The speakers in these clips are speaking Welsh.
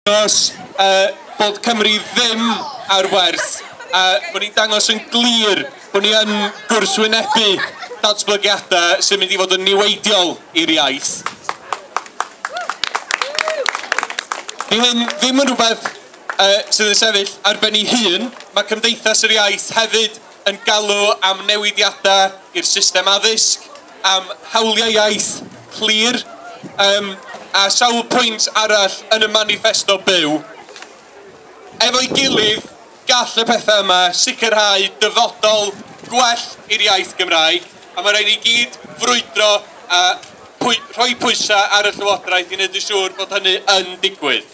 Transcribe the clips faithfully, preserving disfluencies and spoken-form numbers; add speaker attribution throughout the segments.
Speaker 1: Dangos uh, bod Cymru ddim ar werth, a bod ni'n dangos yn glir bod ni yn gwrthwynebu datblygiadau sy'n mynd i fod yn niweidiol i'r iaith. Di hyn ddim yn rhywbeth uh, sydd yn sefyll ar ben ei hun. Mae Cymdeithas yr Iaith hefyd yn galw am newidiadau i'r system addysg, am hawliau iaith clir, um, a sawl pwynt arall yn y manifesto byw. Efo'i gilydd, gall y pethau yma sicrhau dyfodol gwell i'r iaith Gymraeg, a mae rhaid i gyd frwydro a pwy, rhoi pwysau ar y Llywodraeth i wneud yn siŵr bod hynny yn digwydd.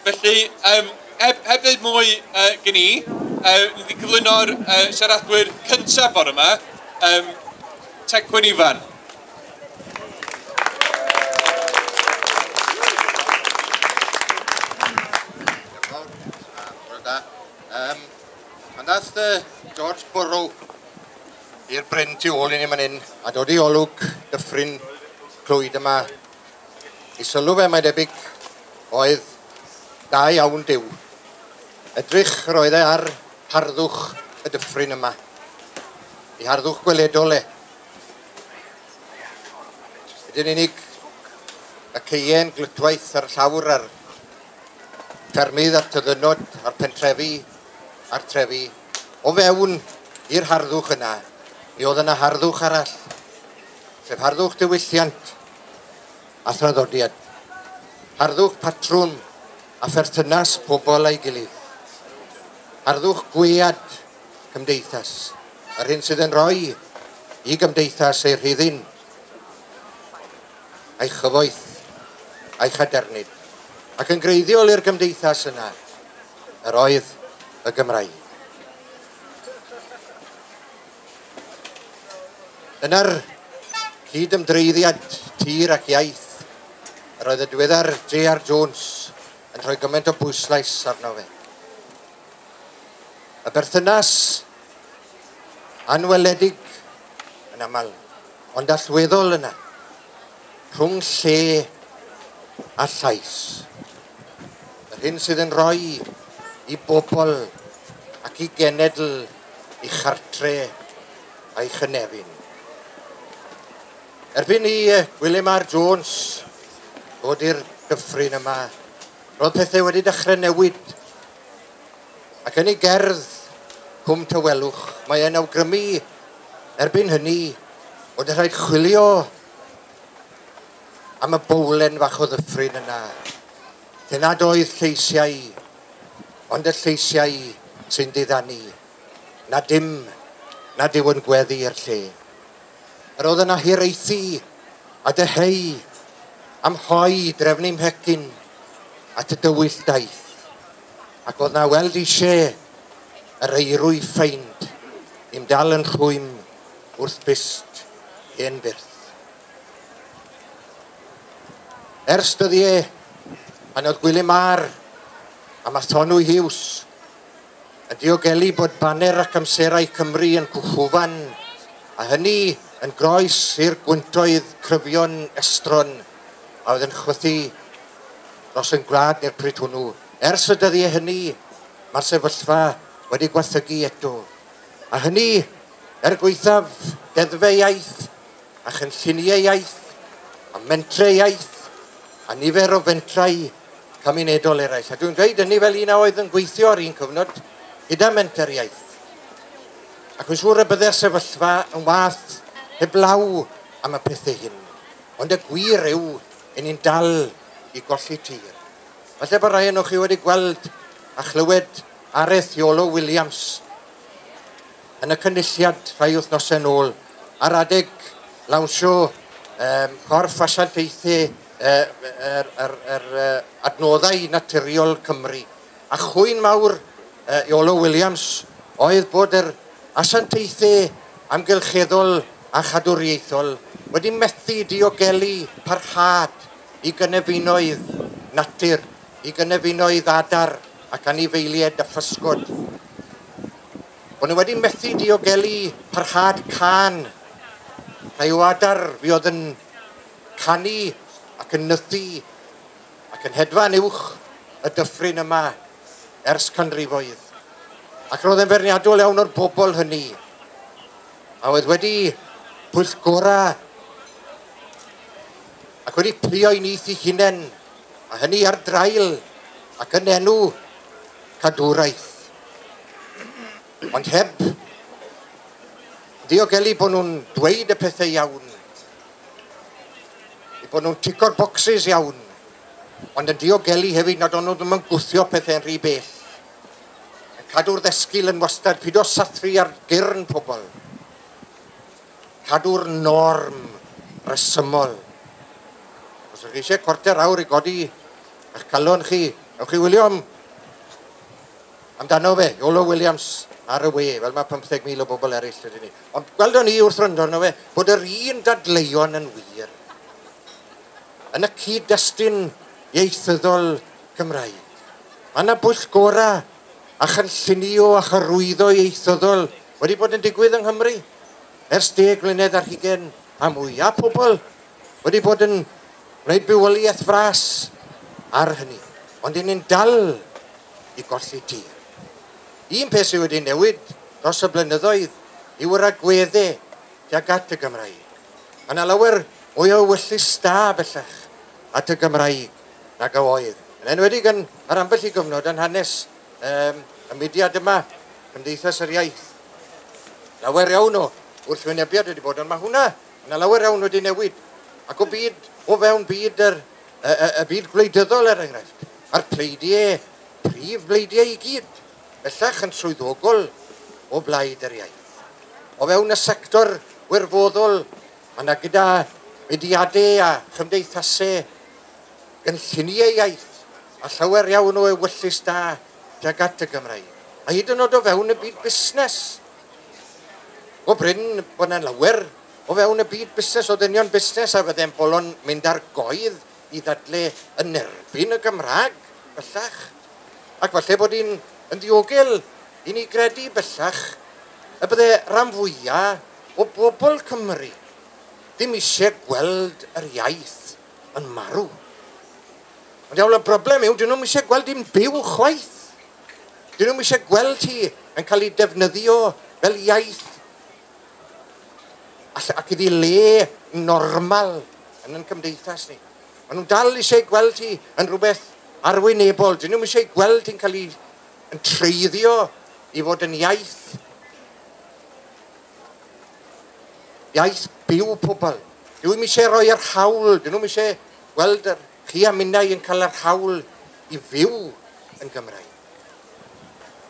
Speaker 1: Felly, um, heb, heb ddweud mwy uh, gen i, uh, ni wedi cyflwyno'r uh, siaradwyr cyntaf bore yma, um, Tecwyn Ifan.
Speaker 2: Um, pan ddath uh, George Burrow i'r bryn tu ôl i ni man hyn a dod i olwg dyffryn Clwyd yma, i sylw fe mae'n debyg oedd da iawn Duw. Edrych roedd e ar harddwch y dyffryn yma, i harddwch gweledol e. Ydyn unig y ceien glytwaith ar llawr a'r ffermydd a'r tyddynod a'r pentrefi a'r trefi, o fewn i'r harddwch yna, mi oedd yna harddwch arall, sef harddwch diwylliant a thraddodiad, harddwch patrwm a pherthynas pobl a'i gilydd, harddwch gwead cymdeithas, yr hyn sydd yn rhoi i gymdeithas ei rhyddin, a'i chyfoeth, a'i chadernid, ac yn greiddiol i'r gymdeithas yna, yr oedd y Gymraeg. Dyna'r cyd-ymdreiddiad tir ac iaith yr oedd y diweddar J R Jones yn rhoi gymaint o bwyslais arno fe. Y berthynas anweledig yn aml, ond allweddol yna, rhwng lle a llais. Yr hyn sydd yn rhoi i bobl ac i genedl, i chartre a'i chynefin. Erbyn i Gwilym R Jones ddod i'r dyffryn yma, roedd pethau wedi dechrau newid. Ac yn ei gerdd Cwm Tawelwch, mae e'n awgrymu erbyn hynny bod yn rhaid chwilio am y bowlen fach o ddyffryn yna, lle nad oedd lleisiau, ond y lleisiau sy'n diddanu, na dim, nad yw yn gweddu i'r lle. Yr oedd yna hiraethu a dyheu am hoi drefnu mhecyn at y dywyll daith, ac oedd na weld eisiau yr eirwy ffeind i'm dal yn rhwym wrth byst hen byrth. Ers dyddiau, pan oedd Gwilym R a Mathonwy Hughes yn diogelu bod baner ac amserau Cymru yn cwchwfan, a hynny yn groes i'r gwyntoedd cryfion estron a oedd yn chwythu dros yn gwlad neu'r pryd hwnnw. Ers y dyddiau hynny, mae'r sefyllfa wedi gwaethygu eto. A hynny, er gwaethaf deddfau iaith, a chynlluniau iaith, a mentrau iaith, a nifer o fentrau cymunedol eraill. A dwi'n dweud hynny fel un a oedd yn gweithio ar un cyfnod gyda menter iaith. Ac yn siŵr y byddai'r sefyllfa yn wath heblaw am y pethau hyn. Ond y gwir yw, i ni'n dal i golli tir. Falle bod rai ohonoch chi wedi gweld a chlywed araith Iolo Williams yn y cynulliad rhai wythnosau nôl ar adeg lawnsio um, corff asiantaethau yr, yr, yr, yr adnoddau naturiol Cymru. A chwyn mawr uh, Iolo Williams oedd bod yr asiantaethau amgylcheddol a chadwriaethol wedi methu diogelu parhad i gynefinoedd natur, i gynefinoedd adar ac anifeiliaid a physgod. Bod nhw wedi methu diogelu parhad can, rhai o adar fuodd yn canu ac yn nythu ac yn hedfan uwch y dyffryn yma ers canrifoedd. Ac roedd e'n feirniadol iawn o'r bobl hynny, a oedd wedi pwyllgora ac wedi plio i nyth eu hunain, a hynny ar draul ac yn enw cadwraeth. Ond heb ddiogelu bod nhw'n dweud y pethau iawn, eu bod nhw'n tico'r bocsys iawn, ond yn diogelu hefyd nad o'n nhw ddim yn gwthio pethau'n rhy bell. Yn cadw'r ddesgyl yn wastad, pido sathru ar gyrn pobl. Cadw'r norm resymol. Os ydych chi eisiau cwarter awr i godi eich calon chi, ewch chi wylio am, amdano fe, Iolo Williams ar y we, fel mae pymtheg mil o bobl eraill ydyn ni. Ond gweldon ni wrth wrando arno fe, bod yr un dadleuon yn wir yn y cyd-destun ieithyddol Cymraeg. Mae yna bwyllgora a chynllunio a chyrwyddo ieithyddol wedi bod yn digwydd yng Nghymru ers deg mlynedd ar hugain a mwy. A pobl wedi bod yn gwneud bywoliaeth fras ar hynny. Ond y'n ni'n dal i golli tir. Un peth sydd wedi newid dros y blynyddoedd yw yr agweddau tuag at y Gymraeg. Mae yna lawer mwy o ewyllys da bellach at y Gymraeg nag a oedd. Yn enwedig yn ar ambell i gyfnod yn hanes um, y mudiad yma, Cymdeithas yr Iaith. Lawer iawn o wrthwynebiad wedi bod, ond mae hwnna, yna lawer iawn wedi newid. Ac o byd, o fewn byd yr, y, y, y byd gwleidyddol er enghraifft, a'r pleidiau, prif bleidiau i gyd, bellach yn swyddogol o blaid yr iaith. O fewn y sector wirfoddol, mae yna gyda mudiadau a chymdeithasau gynlluniau iaith a llawer iawn o ewyllys da tuag at y Gymraeg. A hyd yn oed o fewn y byd busnes. O brin bod yna lawer o fewn y byd busnes, o ddynion busnes a fydde'n bolon mynd ar goedd i ddadle yn erbyn y Gymraeg bellach. Ac falle bod hi'n yn ddiogel i ni gredu bellach y bydde rhan fwyaf o bobl Cymru ddim eisiau gweld yr iaith yn marw. Ond iawn, y broblem yw, dyn nhw'n eisiau gweld hi'n byw chwaith. Dyn nhw'n eisiau gweld hi yn cael ei defnyddio fel iaith ac iddi le normal yn ein cymdeithas ni. Maen nhw'n dal eisiau gweld hi yn rhywbeth arwynebol. Dyn nhw'n eisiau gweld hi'n cael ei yn treiddio i fod yn iaith. Iaith byw pobl. Dyn nhw'n eisiau rhoi yr hawl. Dyn nhw'n eisiau gweld yr, chi a minnau yn cael yr hawl i fyw yn Gymraeg.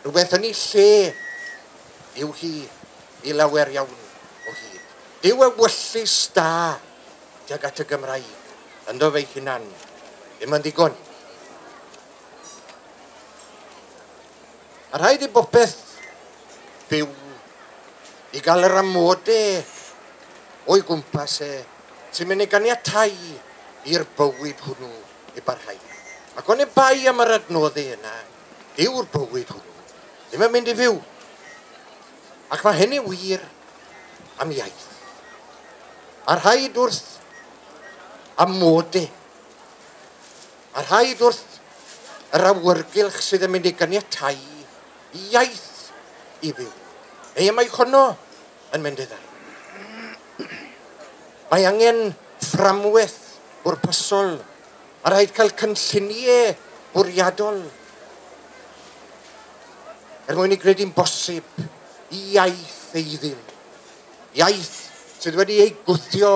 Speaker 2: Rhywbeth yn ei lle yw hi i lawer iawn o hyd. Dyw ewyllys da tuag at y Gymraeg ynddo fe'i hunan ddim yn ddigon. A rhaid i bopeth byw i gael yr amodau o'i gwmpas e sy'n mynd i ganiatáu i'r bywyd hwnnw i barhau. Ac o'n i bai am yr adnoddau yna, dyw'r bywyd hwnnw ddim yn mynd i fyw. Ac mae hynny wir am iaith. A rhaid wrth amodau, a rhaid wrth yr awyrgylch sydd yn mynd i ganiatáu i iaith i fyw. Neu mae honno yn mynd i ddarn. Mae angen fframwaith bwrpasol, a rhaid cael cynlluniau bwriadol er mwyn i gredu'n bosib i iaith eiddil. Iaith sydd wedi ei gwthio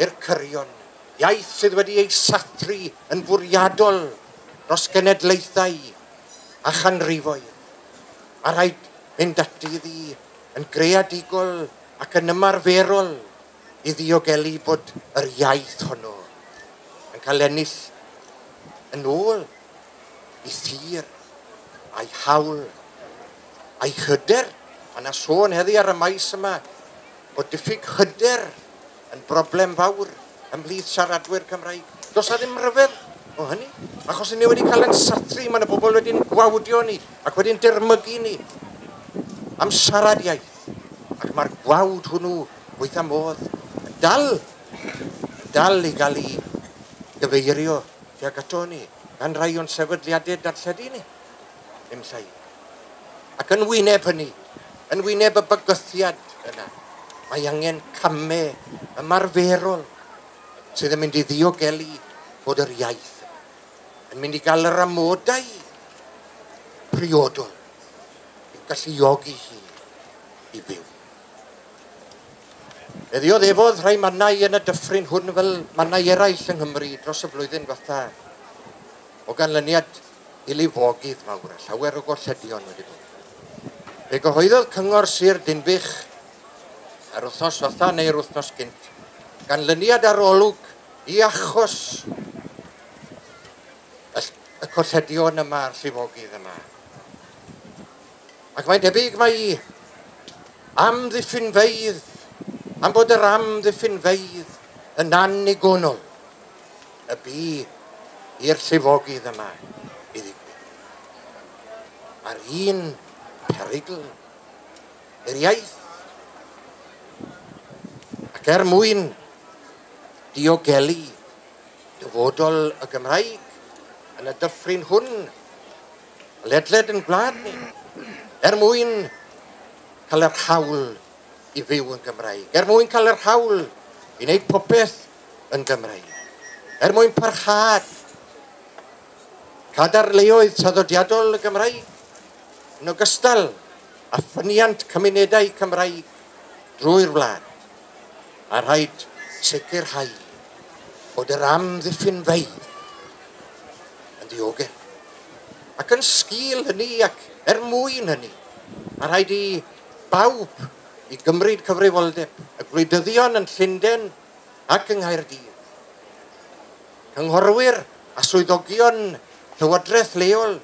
Speaker 2: i'r cyrion. Iaith sydd wedi ei sathru yn fwriadol dros genedlaethau a chanrifoedd. A rhaid mynd ati iddi yn greadigol ac yn ymarferol i ddiogelu bod yr iaith honno yn cael ennill yn ôl i thir a'i hawl a'i hyder. Mae yna sôn heddi ar y maes yma bod diffyg hyder yn broblem fawr ymhlith siaradwyr Cymraeg. Does 'na ddim rhyfedd o hynny, achos ni wedi cael ein sathru, mae yna bobl wedi'n gwawdio ni ac wedi'n dirmygu ni am siarad iaith. Ac mae'r gwawd hwnnw weitha modd yn dal, yn dal i gael ei gyfeirio tuag ato ni. gan rai o'n sefydliadau darlledu ni, ddim llai. Ac yn wyneb hynny, yn wyneb y bygythiad yna, mae angen camau ymarferol sydd yn mynd i ddiogelu bod yr iaith yn mynd i gael yr amodau priodol i'w galluogi hi i fyw. Fe ddioddefodd rhai mannau yn y dyffryn hwn fel mannau eraill yng Nghymru dros y flwyddyn ddiwetha o ganlyniad i lifogydd mawr a llawer o golledion wedi bod. Fe gyhoeddodd Cyngor Sir Dinbych yr wythnos ddiwetha neu'r wythnos gynt ganlyniad arolwg i achos y, y colledion yma a'r llifogydd yma. Ac mae'n debyg mai amddiffynfeydd, am bod yr amddiffynfeydd yn annigonol y bu i'r llifogydd yma i ddigwydd. Mae'r un perygl i'r iaith. Ac er mwyn diogelu dyfodol y Gymraeg yn y dyffryn hwn, ledled yn gwlad ni, er mwyn cael yr hawl i fyw yn Gymraeg, er mwyn cael yr hawl i wneud popeth yn Gymraeg, er mwyn parhad cadarnleoedd traddodiadol y Gymraeg, yn ogystal â ffyniant cymunedau Cymraeg drwy'r wlad. A rhaid sicrhau bod yr amddiffynfeydd yn ddiogel. Ac yn sgil hynny ac er mwyn hynny, mae rhaid i bawb i gymryd cyfrifoldeb, y gwleidyddion yn Llundain ac yng Nghaerdydd, cynghorwyr a swyddogion llywodraeth leol,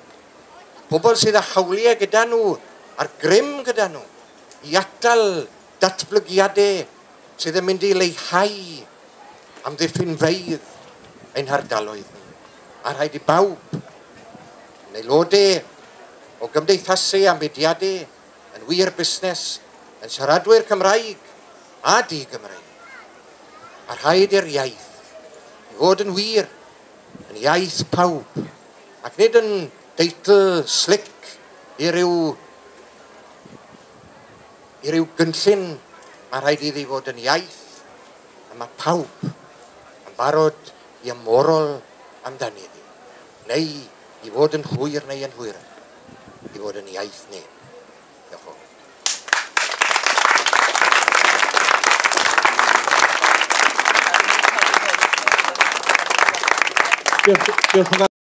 Speaker 2: pobl sydd â hawliau gyda nhw a'r grym gyda nhw i atal datblygiadau sydd yn mynd i leihau amddiffynfeydd ein hardaloedd ni. A rhaid i bawb, yn aelodau o gymdeithasau a mudiadau, yn wir busnes, yn siaradwyr Cymraeg a di-Gymraeg. A rhaid i'r iaith i fod yn wir, yn iaith pawb, ac nid yn deitl slic i ryw, i ryw gynllun. Mae rhaid iddi fod yn iaith, a mae pawb yn barod i ymorol amdani iddi, neu i fod yn hwyr neu yn hwyrach, i fod yn iaith neb. Diolch yn fawr.
Speaker 1: Diolch, diolch yn fawr.